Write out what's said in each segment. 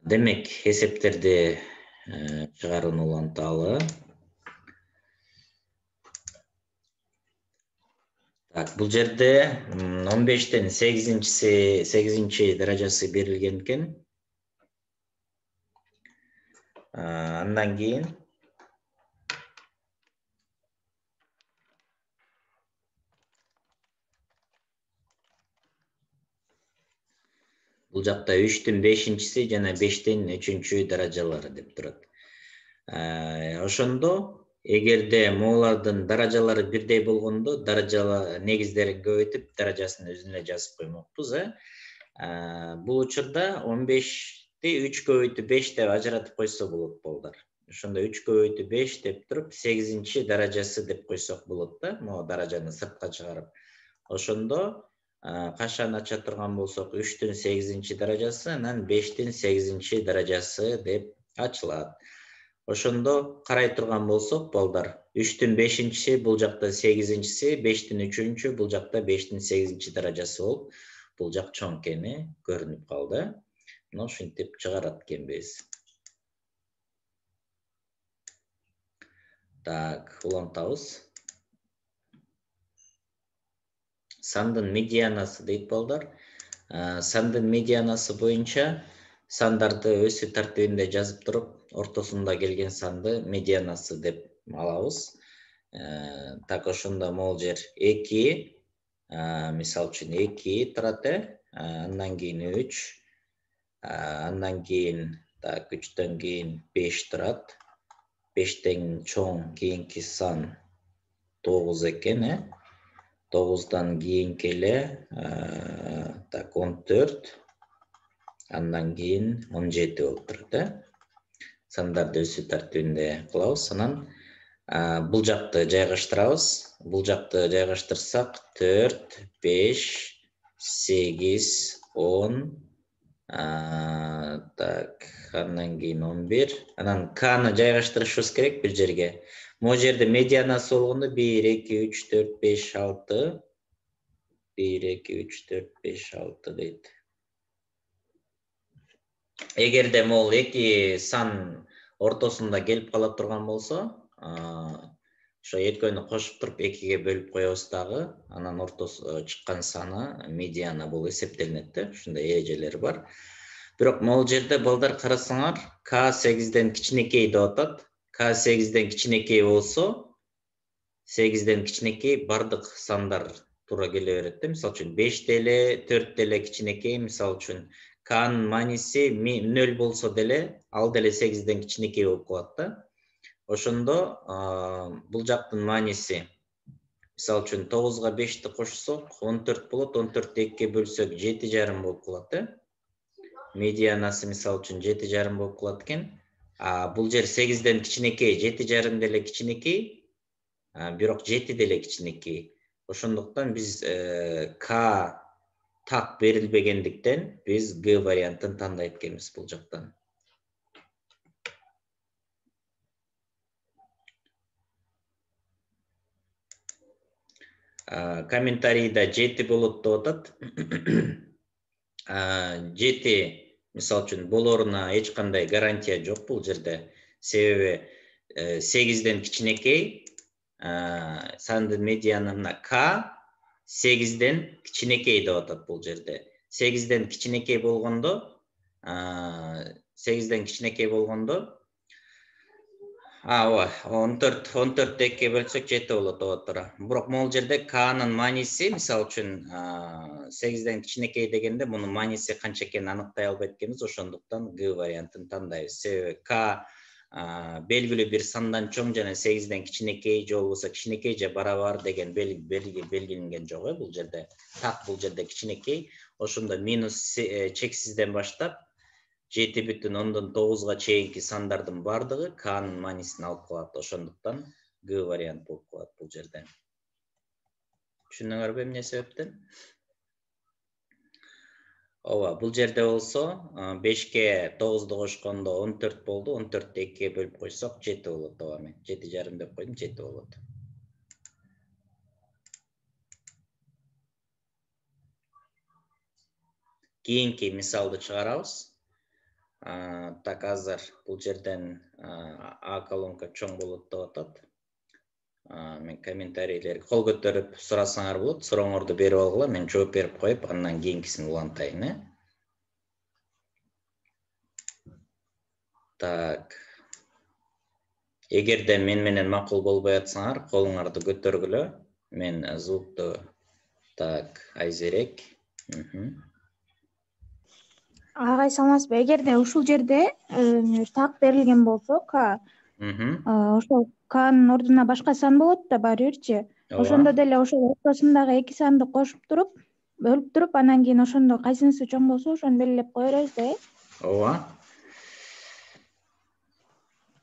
Демек, эсептерди чыгаруunu уланталы. Так, бул жерде 15-тен 8-чи даражасы берилген экен. Андан кийин бул жакта 3-тün 5-нчиси жана 5-тен 3-чү даражалары деп турат. Ошондо эгерде могулардын даражалары бирдей болгондо, даражалар негиздерин көбөйтүп, даражасын өзүнө жазып коймокпуз. Бул учурда 15-ти 3 көбөйтү 5 деп ажыратып койсо болот балдар. Ошондо 3 көбөйтү 5 деп туруп, 8-чи даражасы деп койсок болот да, могу даражаны сыртка чыгарып. Ошондо кашаны ача турган болсок, 3-тün 8-чи даражасы, анан 5-тün 8-чи даражасы деп ачылат. Ошондо карай турган болсок, балдар, 3-тün 5-нчиси бул жакта 8-нчиси, 5-тün 3-чү бул жакта 5-тün 8-чи даражасы болуп, бул жак чоң экени көрүнүп калды. Мына ушинтип чыгарат экенбиз. Так, улантабыз. Сандын медианасы дейт балдар. Сандын медианасы боюнча сандарды өсүү тартибинде жазып туруп, ортосунда келген санды медианасы деп алабыз. Так, ошондо могул жер 2, мисалы үчүн 2 турат, андан кийин 3, андан кийин, так, 3төн кийин 5 турат. 5тен чоң кийинки сан 9 экен, 9дан кийинки эле, так, 14, андан кийин 17 болуп турат. Сандарды өсүү тартибинде кылабыз. Анан бул жакты жайгаштырабыз. Бул жакты жайгаштырсак 4, 5, 8, 10, так, андан кийин 11. Анан К'ны жайгаштырышыбыз керек бир жерге. Могу жерде медианасы болгондо 1, 2, 3, 4, 5, 6. 1, 2, 3, 4, 5, 6 дейт. Эгерде могул эки сан ортосунда келип кала турган болсо, ошо экөөнү кошуп туруп 2ге бөлүп коебуз дагы, анан ортосу чыккан саны медиана болуп эсептелинет да. Ушундай эрежелери бар. Бирок могул жерде балдар карасаңар, К 8ден кичинекей деп атат. К 8ден кичинекей болсо, 8ден кичинекей бардык сандар туура келе берет да. Мисалы үчүн 5 деле, 4 деле кичинекей, мисалы үчүн К'нын мааниси 0 болсо деле, ал деле 8ден кичинекей болуп калат да. Ошондо бул жактын мааниси, мисалы үчүн 9га 5ти кошсок 14 болот, 14-тү 2ге бөлсөк 7,5 болуп калат. Медианасы мисалы үчүн 7,5 болуп калат экен. Бул жер 8ден кичинекей, 7,5 деле кичинекей, бирок 7 деле кичинекей. Ошондуктан биз К так берилбегендиктен биз Г вариантын тандайт экенбиз бул жактан. Комментарийда 7 болот деп атат. 7, мисалы үчүн, болоруна эч кандай гарантия жок бул жерде. Себеби 8ден кичинекей, сандын медианына К 8ден кичинекей деп атат бул жерде. 8ден кичинекей болгондо, 8ден кичинекей болгондо, ооба, 14 2ге бөлсөк 7 болот деп атат. Бирок могул жерде К'нын мааниси, мисалы үчүн, 8ден кичинекей дегенде мунун мааниси канча экенин аныктай албайт экенбиз, ошондуктан Г вариантын тандайбыз. Себеби К белгилүү бир сандан чоң жана 8ден кичинекей же болбосо кичинекей же барабар деген белгиленген жок бул жерде. Так, бул жерде кичинекей. Ошондо минус чексизден баштап 7,9га чейинки сандардын бардыгы К'нын маанисин алып калат. Ошондуктан Г вариант болуп калат бул жерде. Түшүндүңөрбү эмне себептен? Ооба, бул жерде болсо 5ке 9ду кошкондо 14 болду. 14-тү 2ге бөлүп койсок 7 болот. Ооба, мен 7,5 деп койдум, 7 болот. Кийинки мисалды чыгарабыз. Так, азыр бул жерден А колонка чоң болот деп атат. Мен комментарийлерге кол көтөрүп сурасаңар болот. Сурооңорду берип алгыла, мен жооп берип коюп, андан кийинкисин улантайын, Так. Эгерде мен менен макул болбой атсаңар, колуңарды көтөргүлө. Мен звукту так айзерек. Агай саламатсызбы? Эгерде ушул жерде так берилген болсо, К, ошол К'нын ордуна башка сан болот да баары бирчи. Ошондо деле ошол ортосундагы эки санды кошуп туруп, бөлүп туруп, анан кийин ошондо кайсынысы чоң болсо, ошону белгилеп кое беребиз да, Ооба.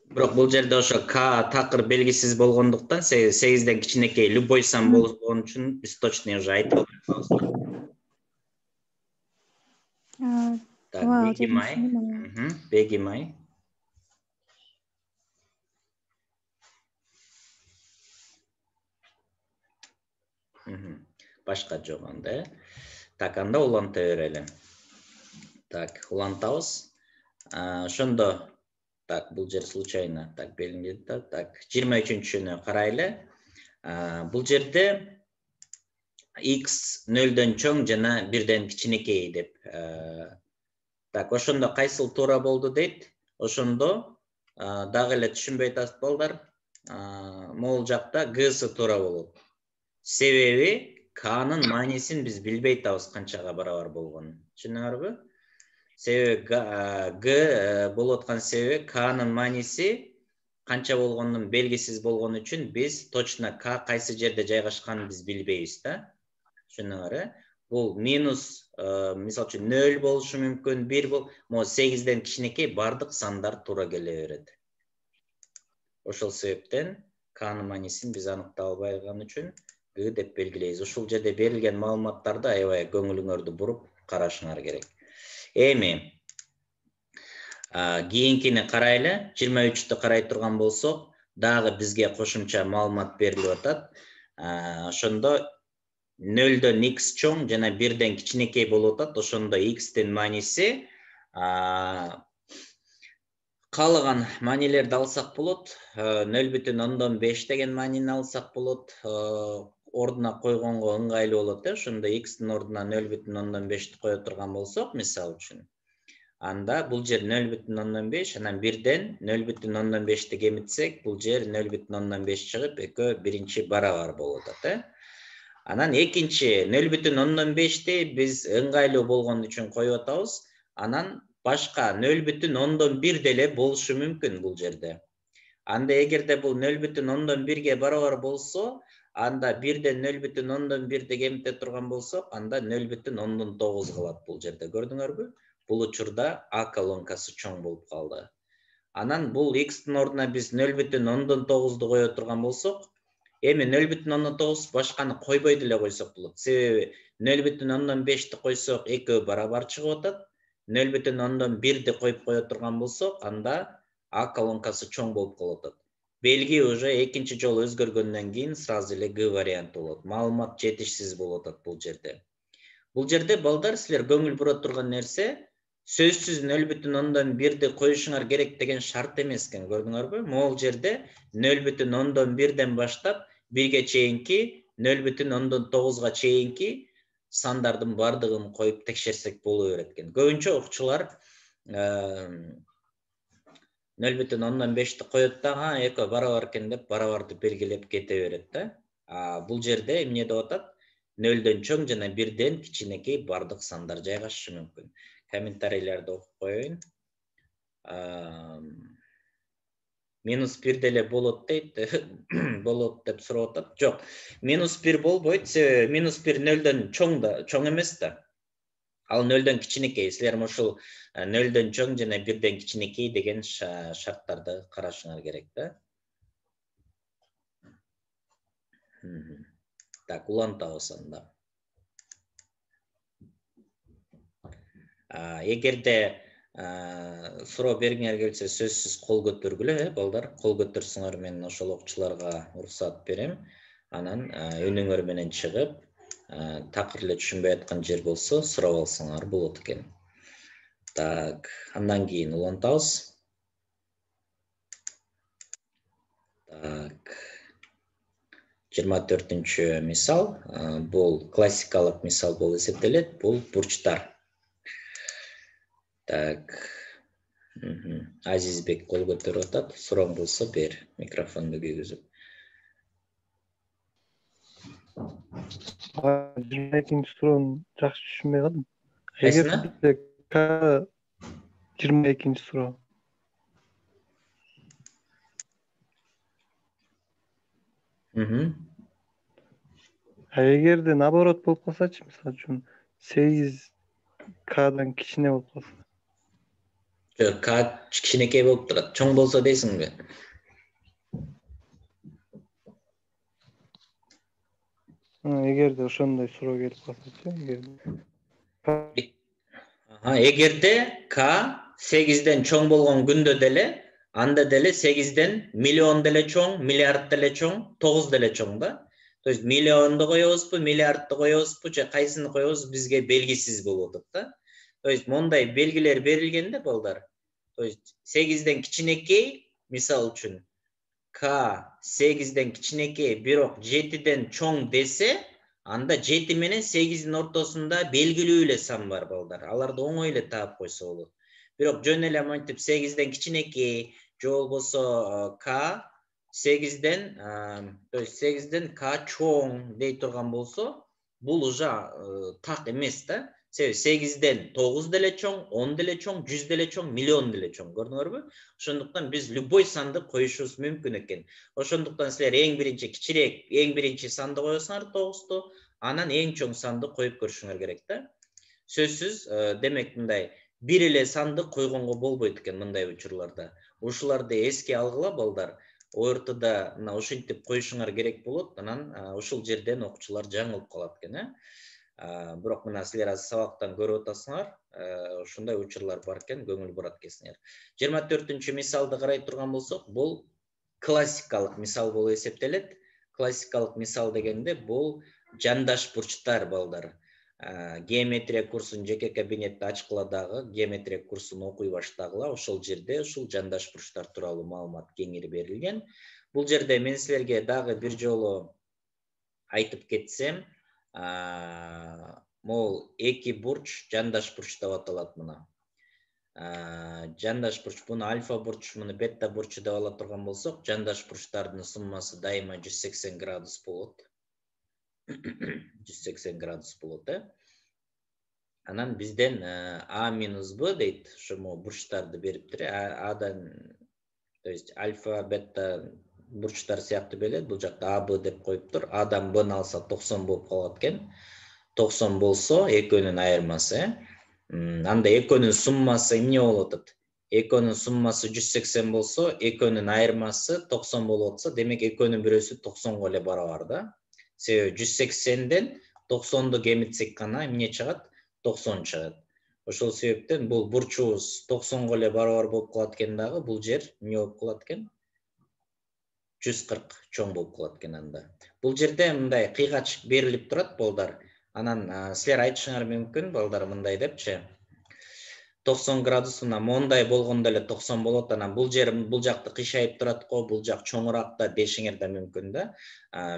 Бирок бул жерде ошо К такыр белгисиз болгондуктан, 8ден кичинекей любой сан болгон үчүн биз точно уже айтып атабыз. Так, Беги-май. Башка жок анда. Так, анда уланта берели. Так, улантабыз. Ошондо так, бул жер случайно так белгиленди. Так, 23-чүнү карайлы. Бул жерде x 0дөн чоң жана 1ден кичинекей деп. Так, ошондо кайсыл туура болду дейт. Ошондо дагы эле түшүнбөй атасыз балдар. Могул жакта Г'сы туура болот. Себеби K'нын маанисин биз билбей атабыз канчага барабар болгонун. Түшүндүңөрбү? Себеби Г болуп аткан себеби K'нын мааниси канча болгонун белгисиз болгон үчүн биз точно К кайсы жерде жайгашканын биз билбейбиз да. Түшүндүңөр? Бул минус, мисалы үчүн 0 болушу мүмкүн, 1 бол, 8ден кичинекей бардык сандар туура келе берет. Ошол себептен K'нын маанисин биз аныктай албай калган үчүн Г деп белгилейбиз. Ушул жерде берилген маалыматтарды аябай көңүлүңөрдү буруп карашыңар керек. Эми кийинкини карайлы. 23-тү карай турган болсок, дагы бизге кошумча маалымат берилип атат. Ошондо 0дөн x чоң жана 1ден кичинекей болуп атат. Ошондо x'тин мааниси каалаган маанилерди алсак болот. 0,5 деген маанини алсак болот. Ордуна койгонго ыңгайлуу болот, ошондо x'тин ордуна 0,5ти кое турган болсок, мисалы үчүн, анда бул жер 0,5, анан 1ден 0,5ти кемитсек, бул жер 0,5 чыгып, экөө биринчи барабар болуп атат, Анан экинчи 0,5ти биз ыңгайлуу болгон үчүн коюп атабыз. Анан башка 0,1 деле болушу мүмкүн бул жерде. Анда эгерде бул 0,1ге барабар болсо, анда 1ден 0,1ти кемите турган болсок, анда 0,9 калат бул жерде. Көрдүңөрбү? Бул учурда А колонкасы чоң болуп калды. Анан бул x'тин ордуна биз 0,9ду кое турган болсок, эми 0,9 башканы койбой деле койсок болот. Себеби 0,5ти койсок, экөө барабар чыгып атат. 0,1ти коюп кое турган болсок, анда А колонкасы чоң болуп калып атат. Белги уже экинчи жолу өзгөргөндөн кийин сразу эле Г варианты болот. Маалымат жетишсиз болуп атат бул жерде. Бул жерде балдар силер көңүл бура турган нерсе, сөзсүз 0,1ти коюшуңар керек деген шарт эмес экен, көрдүңөрбү? Могул жерде 0,1ден баштап 1ге чейинки, 0,9га чейинки сандардын бардыгын коюп текшерсек боло берет экен. Көбүнчө окуучулар 0,5ти коет да, экөө барабар экен деп барабарды белгилеп кете берет да. Бул жерде эмне деп атат? 0дөн чоң жана 1ден кичинекей бардык сандар жайгашышы мүмкүн. Комментарийлерди окуп коеюн. -1 деле болот дейт, болот деп сурап атат. Жок, -1 болбойт, себеби -1 0дөн чоң эмес да. Ал 0дөн кичинекей. Силер ушул 0дөн чоң жана 1ден кичинекей деген шарттарды карашыңар керек да. Так, улантабыз анда. Эгерде суроо бергиңер келсе, сөзсүз кол көтөргүлө, балдар. Кол көтөрсөңөр, мен ошол окуучуларга уруксат берем. Анан үнүңөр менен чыгып, такыр эле түшүнбөй аткан жер болсо, сурап алсаңар болот экен. Так, андан кийин улантабыз. Так. 24-чү мисал, бул классикалык мисал болуп эсептелет, бул бурчтар. Так. Азизбек кол көтөрүп атат. Сурооң болсо бер, микрофонду күйгүзүп. 22-нчи суроону жакшы түшүнбөй калдым. Кайсына? Эгерде К 22-нчи суроо. Эгерде наоборот болуп калсачы, мисалы үчүн 8 К'дан кичине болуп калса. Жок, К кичинекей болуп турат. Чоң болсо дейсиңби? Эгерде ошондой суроо келип калсачы, эгерде К 8ден чоң болгон күндө деле, анда деле 8ден миллион деле чоң, миллиард деле чоң, 9 деле чоң да. То есть миллионду коебузбу, миллиардды коебузбу, же кайсыны коебуз бизге белгисиз болуп атат да. То есть мондай белгилер берилгенде балдар. То есть 8ден кичинекей, мисал үчүн К 8ден кичинекей, бирок 7ден чоң десе, анда 7 менен 8дин ортосунда белгилүү эле сан бар балдар. Аларды оңой эле таап койсо болот. Бирок жөн эле монтип 8ден кичинекей, же болбосо К 8ден, то есть 8ден К чоң дей турган болсо, бул уже так эмес да. Себеби 8ден 9 деле чоң, 10 деле чоң, 100 деле чоң, миллион деле чоң. Көрдүңөрбү? Ошондуктан биз любой санды коюшубуз мүмкүн экен. Ошондуктан силер эң биринчи кичирээк, эң биринчи санды коесуңар 9ту, анан эң чоң санды коюп көрүшүңөр керек да. Сөзсүз, демек мындай бир эле санды койгонго болбойт экен мындай учурларда. Ушуларды эске алгыла балдар. ОРТда мына ушинтип коюшуңар керек болот. Анан ушул жерден окуучулар жаңылып калат экен, Бирок мына силер азыр сабактан көрүп атасыңар, ушундай учурлар бар экен, көңүл бурат экенсиңер. 24-чү мисалды карай турган болсок, бул классикалык мисал болуп эсептелет. Классикалык мисал дегенде бул жандаш бурчтар балдар. Геометрия курсун жеке кабинетте ачкыла дагы, геометрия курсун окуй баштагыла, ошол жерде ушул жандаш бурчтар тууралуу маалымат кеңири берилген. Бул жерде мен силерге дагы бир жолу айтып кетсем, могул эки бурч жандаш бурч деп аталат мына. Жандаш бурч, буну альфа бурч, муну бета бурчу деп ала турган болсок, жандаш бурчтардын суммасы дайыма 180 градус болот. 180 градус болот, Анан бизден А минус Б дейт, ошо бурчтарды бериптир. Адан, то есть альфа, бета бурчтар сыяктуу берилет. Бул жакта А, Б деп коюптур. Адан Б'ны алса 90 болуп калат экен. 90 болсо экөөнүн айырмасы, анда экөөнүн суммасы эмне болуп атат? Экөөнүн суммасы 180 болсо, экөөнүн айырмасы 90 болуп атса, демек экөөнүн бирөөсү 90го эле барабар да. Себеби 180ден 90ду кемитсек гана эмне чыгат? 90 чыгат. Ошол себептен бул бурчубуз 90го эле барабар болуп калат экен дагы, бул жер эмне болуп калат экен? 140 чоң болуп калат экен анда. Бул жерде мындай кыйгач берилип турат балдар. Анан силер айтышыңар мүмкүн балдар мындай депчи. 90 градусуна мондай болгондо эле 90 болот, анан бул жакты кыйшайып турат го, бул жак чоңураак да дешиңер да мүмкүн да.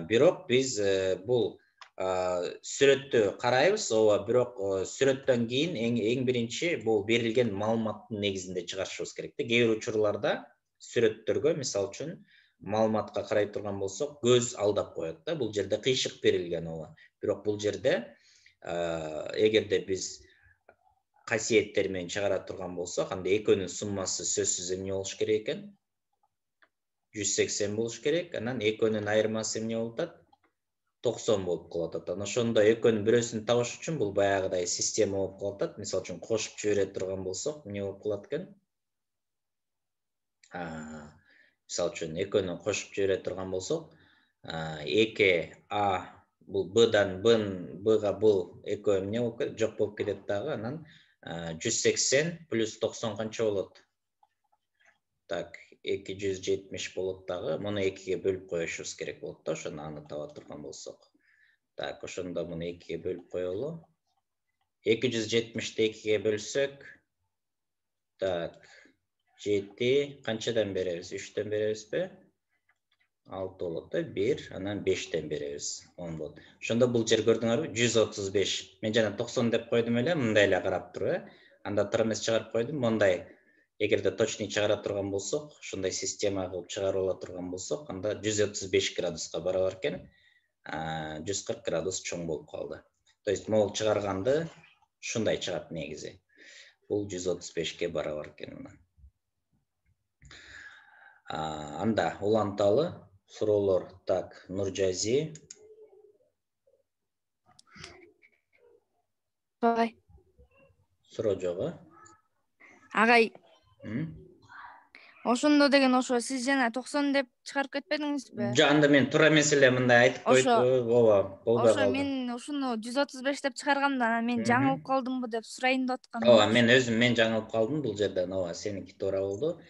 Бирок биз бул сүрөттү карайбыз, ооба, бирок сүрөттөн кийин эң биринчи бул берилген маалыматтын негизинде чыгарышыбыз керек да. Кээ бир учурларда сүрөттөргө, мисалы үчүн, маалыматка карай турган болсок, көз алдап коет да. Бул жерде кыйшык берилген, ооба. Бирок бул жерде эгерде биз касиеттер менен чыгара турган болсок, анда экөөнүн суммасы сөзсүз эмне болуш керек экен? 180 болуш керек. Анан экөөнүн айырмасы эмне болуп атат? 90 болуп калып атат. Анан ошондо экөөнүн бирөөсүн табыш үчүн бул баягыдай система болуп калып атат. Мисалы үчүн кошуп жибере турган болсок, эмне болуп калат экен? Мисалы үчүн экөөнүн кошуп жибере турган болсок, 2А бул Б'дан Б'га бул экөө эмне болуп кетет? Жок болуп кетет дагы. Анан 180 плюс 90 канча болот? Так, 270 болот дагы. Муну 2ге бөлүп коюшубуз керек болот да, ошону аны таба турган болсок. Так, ошондо муну 2ге бөлүп коелу. 270-ти 2ге бөлсөк, Так, 7 канчадан беребиз? 3төн беребизби? 6 болот да, 1, анан 5тен беребиз. 10 болот. Ошондо бул жер көрдүңөрбү? 135. Мен жана 90 деп койдум эле, мындай эле карап туруп, Анда тырмес чыгарып койдум. Мондай эгерде точный чыгара турган болсок, ушундай система кылып чыгарып ала турган болсок, анда 135 градуска барабар экен. 140 градус чоң болуп калды. То есть могул чыгарганды ушундай чыгат негизи. Бул 135ке барабар экен мына. Анда уланталы суроолор. Так, Нуржази. Агай. Суроо жок, Агай. Ошондо деген ошо сиз жана 90 деп чыгарып кетпедиңизби? Жок, анда мен туура эмес эле мындай айтып койдум. Ооба, болбой калды. Ошо мен ушуну 135 деп чыгаргамда, анан мен жаңылып калдымбы деп сурайын деп аткам. Ооба, мен жаңылып калдым бул жерден. Ооба, сеники туура болду.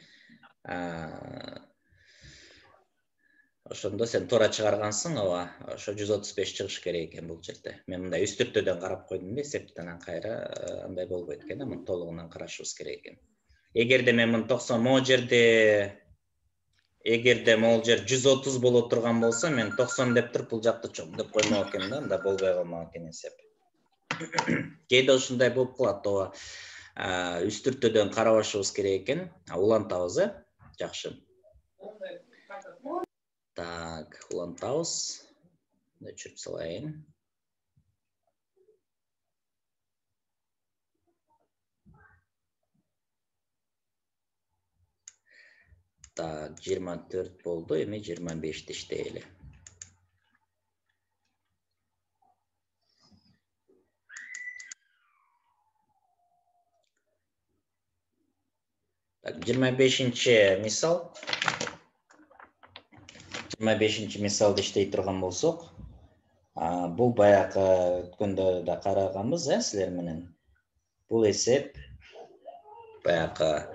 Ошондо сен туура чыгаргансың, ооба. Ошо 135 чыгыш керек экен бул жерде. Мен мындай үстүртөдөн карап койдум да, эсептен анан кайра андай болбойт экен, муну толугунан карашыбыз керек экен. Эгерде мен муну 90 могул жерде могул жер 130 боло турган болсо, мен 90 деп туруп бул жакты чоң деп коймок экен да, анда болбой калмак экен эсеп. Кээде ушундай болуп калат, ооба. Үстүртөдөн карабашыбыз керек экен. Улантабыз, жакшы. Так, улантабыз. Өчүрүп салайын. Так, 24 болду, эми 25 иштейли. Так, 25-нчи мисал. 25-нчи мисалды иштей турган болсок, бул баягы өткөндө да караганбыз, силер менен. Бул эсеп баягы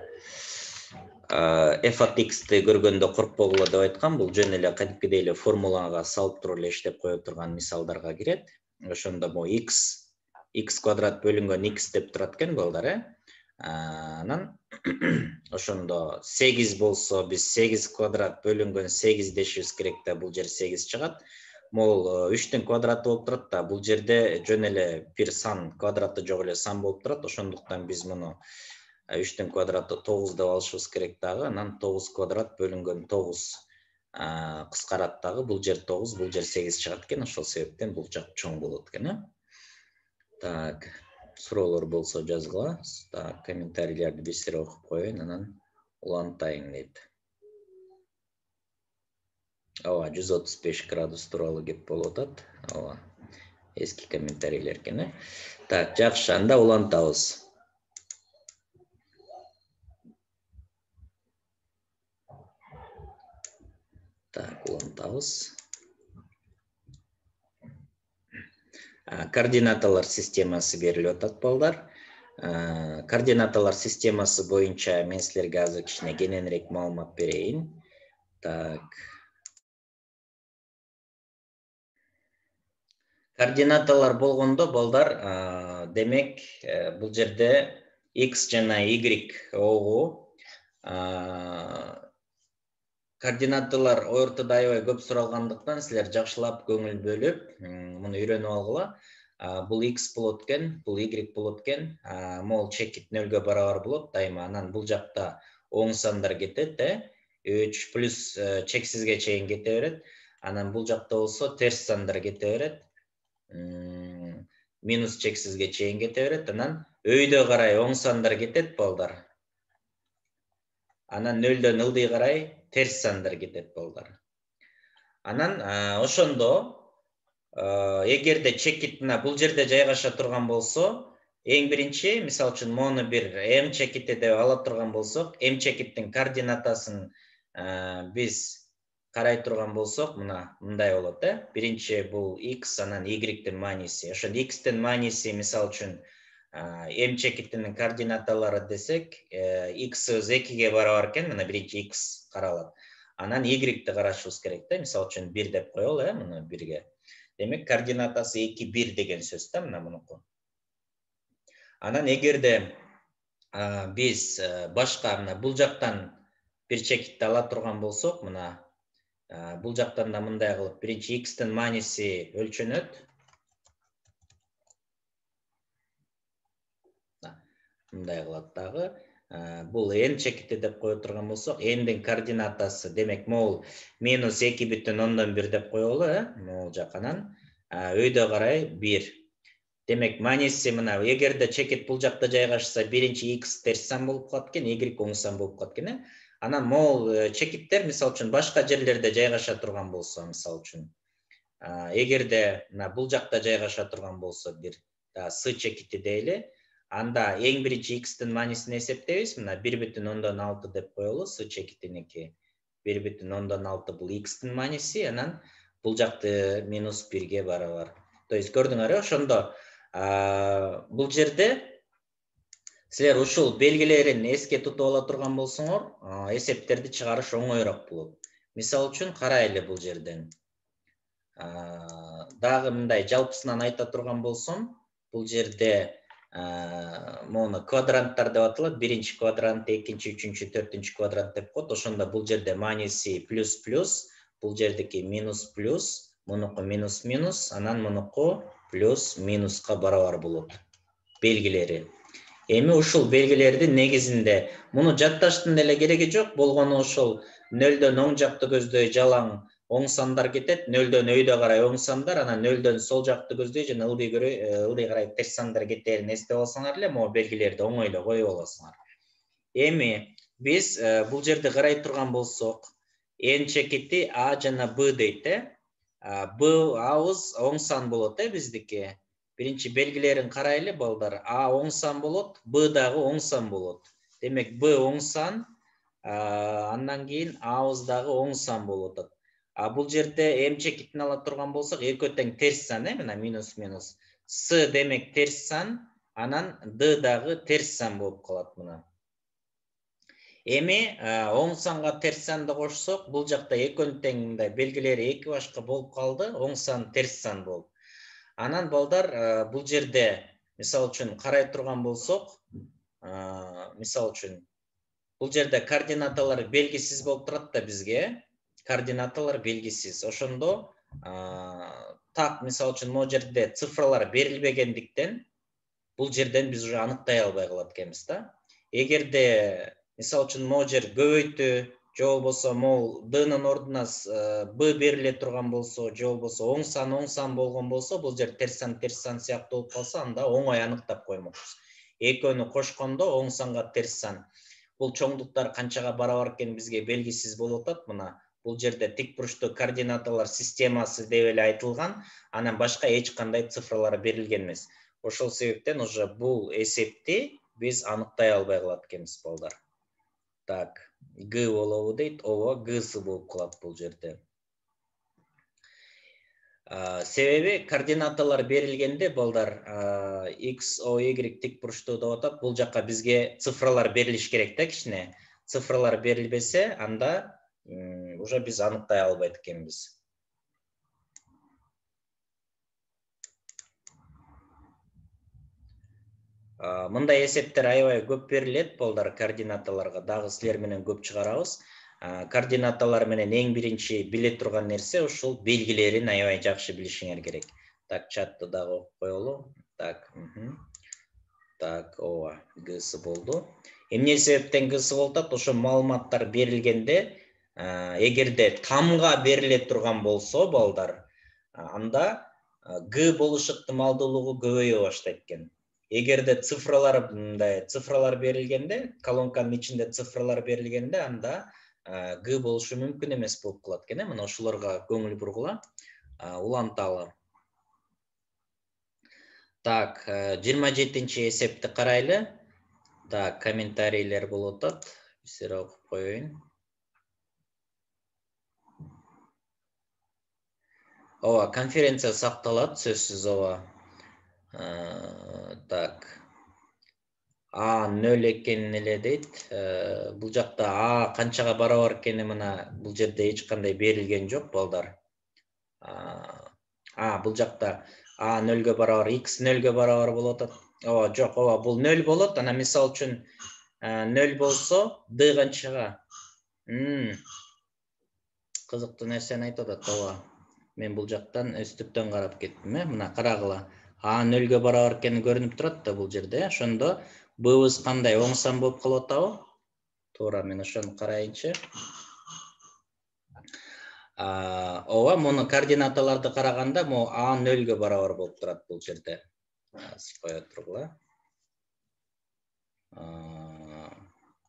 f от x'ти көргөндө коркпогула деп айткан. Бул жөн эле кадимкидей эле формулага салып туруп эле иштеп кое турган мисалдарга кирет. Ошондо бул x квадрат бөлүнгөн x деп турат экен балдар, Анан ошондо 8 болсо, биз 8 квадрат бөлүнгөн 8 дешибиз керек да, бул жер 8 чыгат. Могул 3түн квадраты болуп турат да, бул жерде жөн эле бир сан, квадраты жок эле сан болуп турат. Ошондуктан биз муну 3түн квадраты 9 деп алышыбыз керек дагы. Анан 9 квадрат бөлүнгөн 9 кыскарат дагы. Бул жер 9, бул жер 8 чыгат экен. Ошол себептен бул жак чоң болот экен. Так, суроолор болсо жазгыла. Так, комментарийлерди бизер окуп коеюн, анан улантайын дейт. Ооба, 135 градус тууралуу кеп болуп атат. Ооба, эски комментарийлер экен. Так, жакшы, анда улантабыз. Так, улантабыз. Координаталар системасы берилип атат, балдар. Координаталар системасы боюнча мен силерге азыр кичине кененирээк маалымат берейин. Так. Координаталар болгондо, балдар, демек, бул жерде x жана y огу координаталар ортодо аябай көп суралгандыктан силер жакшылап көңүл бөлүп, муну үйрөнүп алгыла. Бул x болот экен, бул y болот экен. Могул чекит 0-гө барабар болот дайыма. Анан бул жакта оң сандар кетет, 3 плюс чексизге чейин кете берет. Анан бул жакта болсо терс сандар кете берет. Минус чексизге чейин кете берет. Анан өйдө карай оң сандар кетет, балдар. Анан 0-дөн ылдый карай терс сандар кетет, балдар. Анан ошондо эгерде чекит мына бул жерде жайгаша турган болсо, эң биринчи, мисалы үчүн мону бир m чекити деп ала турган болсок, m чекиттин координатасын биз карай турган болсок, мына мындай болот, Биринчи бул x, анан y-тин мааниси. Ошондо x-тин мааниси, мисалы үчүн m чекитинин координаталары десек, x 2-ге барабар экен, мына биринчи x каралат. Анан y-ти карашыбыз керек да, мисалы үчүн 1 деп коелу, муну 1-ге. Демек, координатасы 2, 1 деген сөз да, мына мунуку. Анан эгерде биз башка мына бул жактан бир чекитти ала турган болсок, мына бул жактан да мындай кылып, биринчи x'тин мааниси өлчөнөт. Мындай кылат дагы. Бул n чекити деп кое турган болсок, n'дин координатасы, демек, могул -2,1 деп коелу, могул жаканан өйдө карай 1. Демек, мааниси мына, эгерде чекит бул жакта жайгашса, биринчи x терс сан болуп калат экен, y оң сан болуп калат экен. Анан могул чекиттер, мисалы үчүн, башка жерлерде жайгаша турган болсо, мисалы үчүн, эгерде мына бул жакта жайгаша турган болсо, бир с чекити дейли, анда эң биринчи x'тин маанисин эсептейбиз. Мына 1,6 деп коелу, с чекитиники 1,6 бул x'тин мааниси, анан бул жакты -1ге барабар. То есть көрдүңөр, ошондо бул жерде силер ушул белгилерин эске тутуп ала турган болсоңор, эсептерди чыгарыш оңойрок болот. Мисалы үчүн, карайлы бул жерден. Дагы мындай жалпысынан айта турган болсом, бул жерде мону квадранттар деп аталат. Биринчи квадрант, экинчи, үчүнчү, төртүнчү квадрант деп коет. Ошондо бул жерде мааниси плюс-плюс, бул жердики минус-плюс, мунуку минус-минус, анан мунуку плюс-минуска барабар болот белгилери. Эми ушул белгилердин негизинде муну жатташтын деле кереги жок, болгону ошол 0дөн оң жакты көздөй жалаң оң сандар кетет, 0дөн өйдө карай оң сандар, анан 0дөн сол жакты көздөй жана ылдый карай терс сандар кетерин эстеп алсаңар эле, могу белгилерди оңой эле коюп аласыңар. Эми биз бул жерде карай турган болсок, n чекити a жана b дейт, абыз оң сан болот, биздики. Биринчи белгилерин карайлы, балдар. А оң сан болот, b дагы оң сан болот. Демек, b оң сан, андан кийин абыз дагы оң сан болот. Бул жерде m чекитин ала турган болсок, экөө тең терс сан, мына минус-минус. С демек терс сан, анан d дагы терс сан болуп калат мына. Эми оң санга терс санды кошсок, бул жакта экөөнүн тең мындай белгилери эки башка болуп калды, оң сан терс сан болуп. Анан балдар, бул жерде мисалы үчүн карай турган болсок, мисалы үчүн бул жерде координаталар белгисиз болуп турат да бизге. Координаталар белгисиз. Ошондо так мисалы үчүн могу жерде цифралар берилбегендиктен бул жерден биз уже аныктай албай калат экенбиз да. Эгерде мисалы үчүн могу жер көбөйтүү же болбосо могул d-нын ордуна b бериле турган болсо, же болбосо оң сан болгон болсо, бул жер терс сан сыяктуу болуп калса, анда оңой аныктап коймокпуз. Экөөнү кошкондо оң санга терс сан. Бул чоңдуктар канчага барабар экени бизге белгисиз болуп атат. Мына бул жерде тик бурчтуу координаталар системасы деп эле айтылган, анан башка эч кандай цифралар берилген эмес. Ошол себептен уже бул эсепти биз аныктай албай калат экенбиз, балдар. Так, Г болобу дейт, ооба, Гсы болуп калат бул жерде. Себеби координаталар берилгенде, балдар, X, O, Y тик бурчтуу деп атат. Бул жакка бизге цифралар берилиш керек да, кичине. Цифралар берилбесе, анда уже биз аныктай албайт экенбиз. Мындай эсептер аябай көп берилет, балдар, координаталарга. Дагы силер менен көп чыгарабыз. Координаталар менен эң биринчи биле турган нерсе ушул белгилерин аябай жакшы билишиңер керек. Так, чатты дагы окуп коелу. Так, так, ооба, Гсы болду. Эмне себептен Гсы болуп атат? Ошо маалыматтар берилгенде, эгерде тамга бериле турган болсо, балдар, анда Г болуш ыктымалдуулугу көбөйө баштайт экен. Эгерде цифралар берилгенде, колонканын ичинде цифралар берилгенде, анда Г болушу мүмкүн эмес болуп калат экен. Мына ошолорго көңүл бургула, уланталы. Так, 27-чи эсепти карайлы. Так, комментарийлер болуп атат. Силер окуп коеюн. Ооба, конференция сакталат, сөзсүз, ооба. Так. А 0 экенин эле дейт. Бул жакта А канчага барабар экени мына бул жерде эч кандай берилген жок, балдар. Бул жакта А 0ге барабар, X 0ге барабар болуп атат. ооба жок, ооба бул 0 болот. Анан мисалы үчүн 0 болсо d канчага? Кызыктуу нерсени айтып атат, ооба. Мен бул жактан өстүктөн карап кеттим, мына карагыла. А 0-гө барабар экени көрүнүп турат да бул жерде. Ошондо быбыз кандай? Оң сан болуп калып атабы? Туура, мен ошону карайынчы. Ооба, муну координаталарды караганда, могу А 0-гө барабар болуп турат бул жерде. Кое тургула.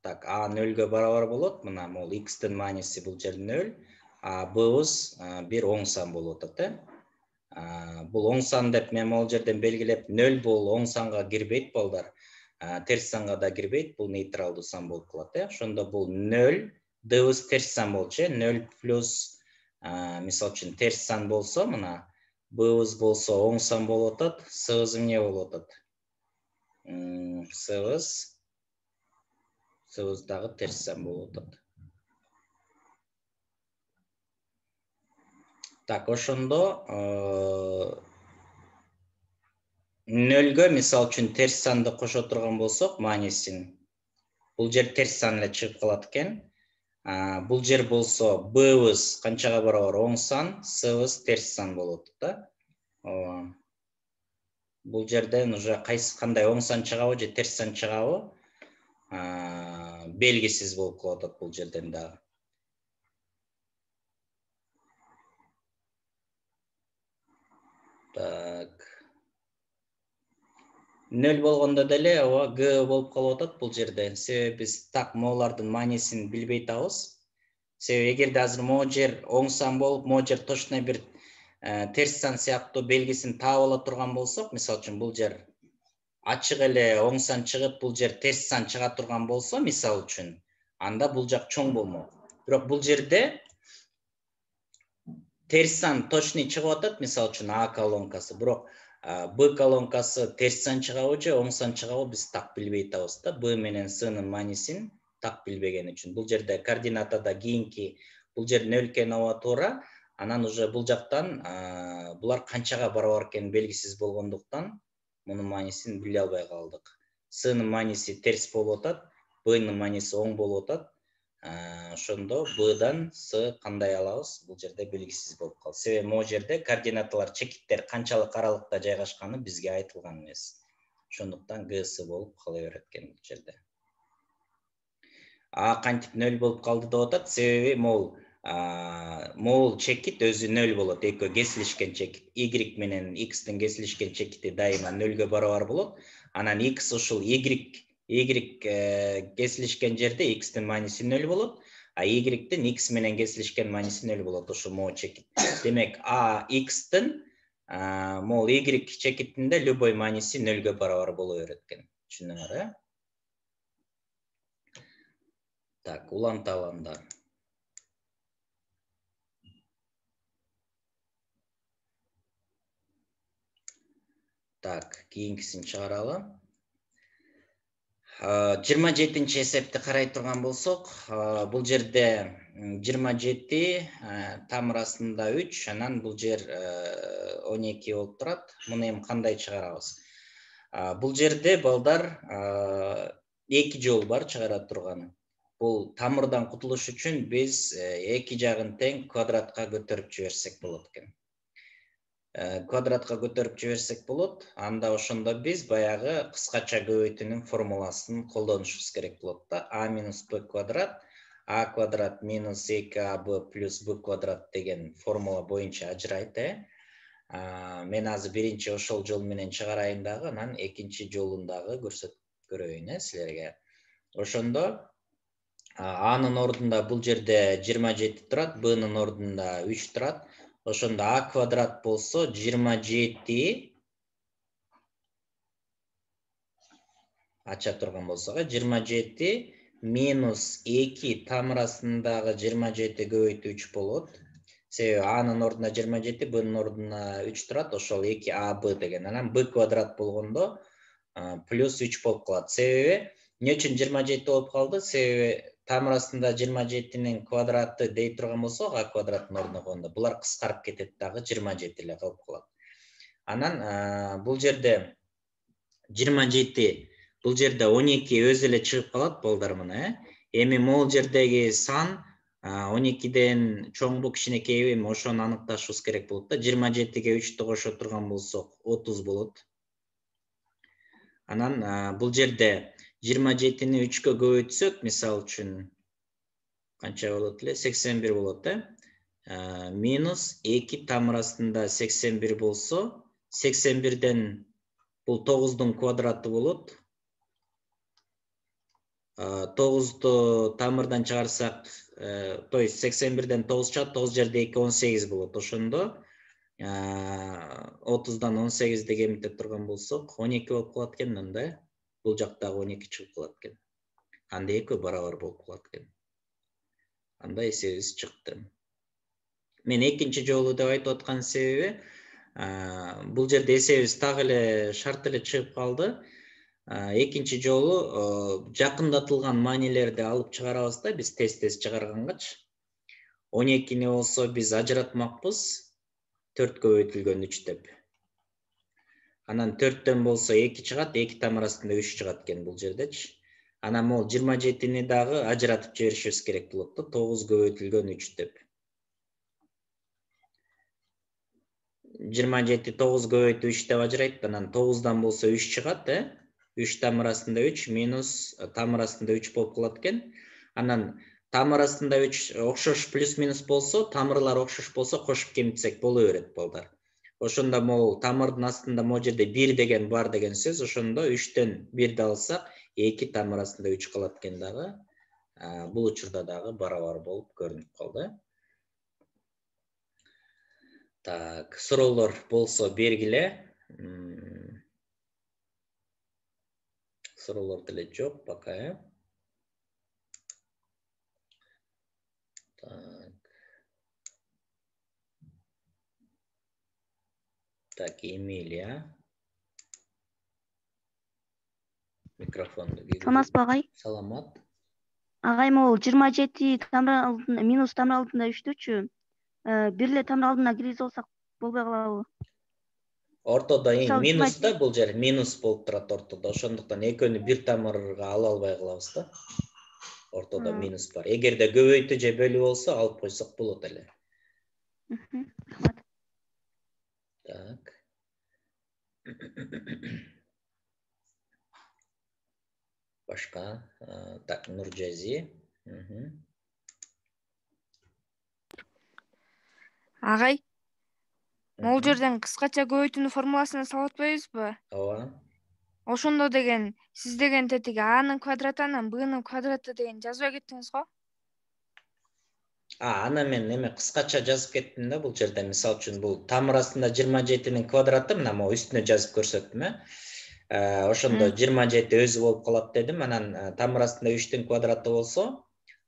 Так, А 0-гө барабар болот. Мына могу x-тин мааниси бул жерде 0, а быбыз бир оң сан болуп атат, Бул оң сан деп мен могул жерден белгилеп, 0 бул оң санга кирбейт балдар. Терс санга да кирбейт, бул нейтралдуу сан болуп калат, Ошондо бул 0, дыбыз терс сан болчу, 0 плюс мисалы үчүн терс сан болсо, мына быбыз болсо оң сан болуп атат, сыбыз эмне болуп атат? Сыбыз дагы терс сан болуп атат. Так, ошондо 0-гө мисалы үчүн терс санды кошо турган болсок, маанисин бул жер терс сан эле чыгып калат экен. Бул жер болсо быбыз канчага барабар? Оң сан, сыбыз терс сан болот да. Ооба. Бул жерден уже кандай оң сан чыгабы же терс сан чыгабы белгисиз болуп калып атат бул жерден дагы. Так. 0 болгондо деле ооба Г болуп калып атат бул жерде. Себеби биз так могулардын маанисин билбей атабыз. Себеби эгерде азыр могу жер оң сан болуп, могу жер точно бир терс сан сыяктуу белгисин таап ала турган болсок, мисалы үчүн бул жер ачык эле оң сан чыгып, бул жер терс сан чыга турган болсо, мисалы үчүн, анда бул жак чоң болмок. Бирок бул жерде терс сан точный чыгып атат, мисалы үчүн А колонкасы, бирок Б колонкасы терс сан чыгабы же оң сан чыгабы биз так билбей атабыз да. Б менен С'нын маанисин так билбеген үчүн. Бул жерде координатада кийинки бул жер 0 экени ооба туура. Анан уже бул жактан булар канчага барабар экени белгисиз болгондуктан мунун маанисин биле албай калдык. С'нын мааниси терс болуп атат, Б'нын мааниси оң болуп атат. Ошондо Б'дан С кандай алабыз? Бул жерде белгисиз болуп калды. Себеби могу жерде координаталар, чекиттер канчалык аралыкта жайгашканы бизге айтылган эмес. Ошондуктан ГС болуп кала берет экен бул жерде. Кантип 0 болуп калды деп атат? Себеби могул чекит өзү 0 болот. Экөө кесилишкен чекит. Y менен X'тин кесилишкен чекити дайыма 0-гө барабар болот. Анан X ушул Y кесилишкен жерде X'тин мааниси 0 болот, а Y-тин X менен кесилишкен мааниси 0 болот ушул могу чекит. Демек, X'тин могул Y чекитинде любой мааниси 0-гө барабар боло берет экен. Түшүндүңөр, Так, уланта аламдар. Так, кийинкисин чыгаралы. 27-нчи эсепти карай турган болсок, бул жерде 27 тамыр астында 3, анан бул жер 12 болуп турат. Муну эми кандай чыгарабыз? Бул жерде балдар 2 жол бар чыгара турганы. Бул тамырдан кутулуш үчүн биз 2 жагын тең квадратка көтөрүп жиберсек болот экен. Квадратка көтөрүп жиберсек болот. Анда ошондо биз баягы кыскача көбөйтүүнүн формуласын колдонушубуз керек болот да. А минус Б квадрат, А квадрат минус 2АБ плюс Б квадрат деген формула боюнча ажырайт, Мен азыр биринчи ошол жол менен чыгарайын дагы, анан экинчи жолун дагы көрсөтүп көрөйүн, силерге. Ошондо Анын ордунда бул жерде 27 турат, Б'нын ордунда 3 турат. Ошондо А квадрат болсо 27 ача турган болсок, 27 минус 2 тамыр астындагы 27 көбөйтүү 3 болот. Себеби Анын ордуна 27, Б'нын ордуна 3 турат, ошол 2АБ деген. Анан Б квадрат болгондо плюс 3 болуп калат. Себеби эмне үчүн 27 болуп калды? Себеби тамыр астында 27-нин квадраты дей турган болсок, А квадраттын ордуна койгондо булар кыскарып кетет дагы 27 эле калып калат. Анан бул жерде 27 бул жерде 12 өз эле чыгып калат балдар мына. Эми могул жердеги сан 12ден чоңбу кичинекейби, ошону аныкташыбыз керек болот да. 27ге 3'tү кошо турган болсок 30 болот. Анан бул жерде 27-ни 3-кө көбөйтсөк, мисалы үчүн канча болот эле? 81 болот, минус 2 тамыр астында 81 болсо, 81ден бул 9'дун квадраты болот. 9'ду тамырдан чыгарсак, то есть 81ден 9 чыгат, 9 жерде 2 18 болот. Ошондо 30дан 18 эмите турган болсок, 12 болуп калат экен мында. Бул жактагы 12 чыгып калат экен. Анда экөө барабар болуп калат экен. Анда эсебибиз чыкты. Мен экинчи жолу деп айтып аткан себеби, бул жерде эсебибиз так эле шарт эле чыгып калды. Экинчи жолу жакындатылган маанилерди алып чыгарабыз да, биз тест чыгаргангачы. 12-ни болсо биз ажыратмакпыз, 4 көбөйтүлгөн 3 деп. Анан 4төн болсо 2 чыгат, 2 тамыр астында 3 чыгат экен бул жердечи. Анан могул 27-ни дагы ажыратып жиберишибиз керек болот да, 9 көбөйтүлгөн 3 деп. 27 9 көбөйтүү 3 деп ажырайт, анан 9дан болсо 3 чыгат, 3 тамыр астында 3 минус тамыр астында 3 болуп калат экен. Анан тамыр астында 3 окшош плюс-минус болсо, тамырлар окшош болсо кошуп кемитсек боло берет балдар. Ошондо могул тамырдын астында могул жерде 1 деген бар деген сөз, ошондо 3төн 1ди алсак, 2 тамыр астында 3 калат экен дагы. Бул учурда дагы барабар болуп көрүнүп калды. Так, суроолор болсо бергиле. Суроолор деле жок пока. Так, Эмилия. Микрофонду кийгизип. Саламатсызбы агай? Саламат. Агай, могул 27 тамыр алдында минус тамыр алдында 3түчү. Бир эле тамыр алдына киргизип алсак болбой калабы? Ортодо минус да, бул жер минус болуп турат ортодо. Ошондуктан экөөнү бир тамырга ала албай калабыз да. Ортодо минус бар. Эгерде көбөйтүү же бөлүү болсо алып койсок болот эле. Так. Башка, так, Нуржази. Агай, могул жерден кыскача көбөйтүүнүн формуласын салып атпайбызбы? Ооба. Ошондо деген сиз деген тетиги А-нын квадраты анан Б-нын квадраты деген жазбай кеттиңиз го? Аны мен эме кыскача жазып кеттим да бул жерде. Мисалы үчүн бул тамыр астында 27-нин квадраты, мына могу үстүнө жазып көрсөттүм, ошондо 27 өзү болуп калат дедим. Анан тамыр астында 3-түн квадраты болсо,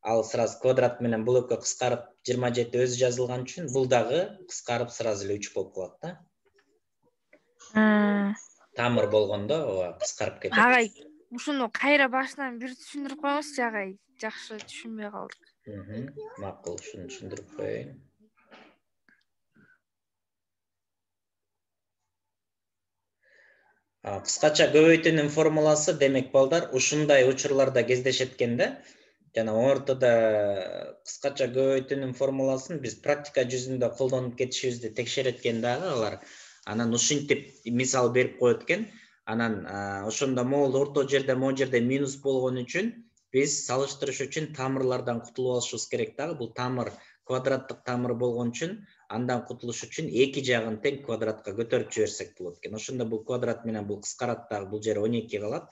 ал сразу квадрат менен бул экөө кыскарып 27 өзү жазылган үчүн бул дагы кыскарып сразу эле 3 болуп калат да. Тамыр болгондо ооба кыскарып кетет. Агай, ушуну кайра башынан бир түшүндүрүп коюңузчу агай. Жакшы түшүнбөй калдык. Макул, ушуну түшүндүрүп коеюн. Кыскача көбөйтүүнүн формуласы, демек балдар, ушундай учурларда кездешет экен да. Жана ортодо кыскача көбөйтүүнүн формуласын биз практика жүзүндө колдонуп кетишибизди текшерет экен дагы алар. Анан ушинтип мисал берип коет экен. Анан ошондо могул орто жерде минус болгон үчүн биз салыштырыш үчүн тамырлардан кутулуп алышыбыз керек дагы. Бул тамыр квадраттык тамыр болгон үчүн андан кутулуш үчүн эки жагын тең квадратка көтөрүп жиберсек болот экен. Ошондо бул квадрат менен бул кыскарат дагы, бул жер 12 калат.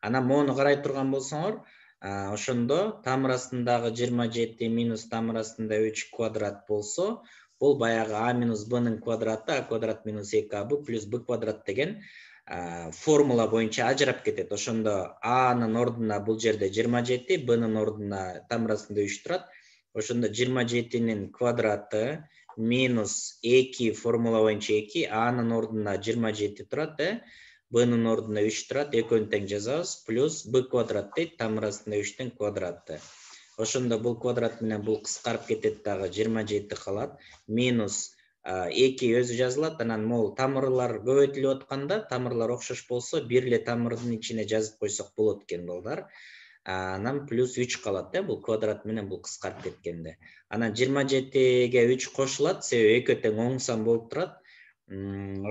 Анан моуну карай турган болсоңор, ошондо тамыр астындагы 27 минус тамыр астында 3 квадрат болсо, бул баягы А минус Б-нын квадраты, А квадрат минус 2АБ плюс Б квадрат деген формула боюнча ажырап кетет. Ошондо А-нын ордуна бул жерде 27, Б-нын ордуна тамыр астында 3 турат. Ошондо 27-нин квадраты минус 2 формула боюнча 2, А-нын ордуна 27 турат, Б-нын ордуна 3 турат, экөөнү тең жазабыз, плюс Б квадрат дейт, тамыр астында 3-түн квадраты. Ошондо бул квадрат менен бул кыскарып кетет дагы, 27 калат, минус 2 өзү жазылат, анан могул тамырлар көбөйтүлүп атканда, тамырлар окшош болсо, бир эле тамырдын ичине жазып койсок болот экен балдар. Анан плюс 3 калат бул квадрат менен бул кыскарып кеткенде. Анан 27ге 3 кошулат, себеби экөө тең оң сан болуп турат.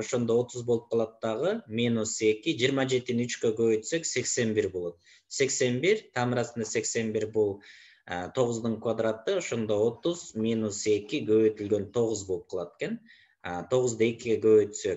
Ошондо 30 болуп калат дагы, минус 2, 27-ни 3кө көбөйтсөк 81 болот. 81, тамыр астында 81 бул 9-дун квадраты, ошондо 30 минус 2 көбөйтүлгөн 9 болуп калат экен. 9-ду 2ге көбөйтсөк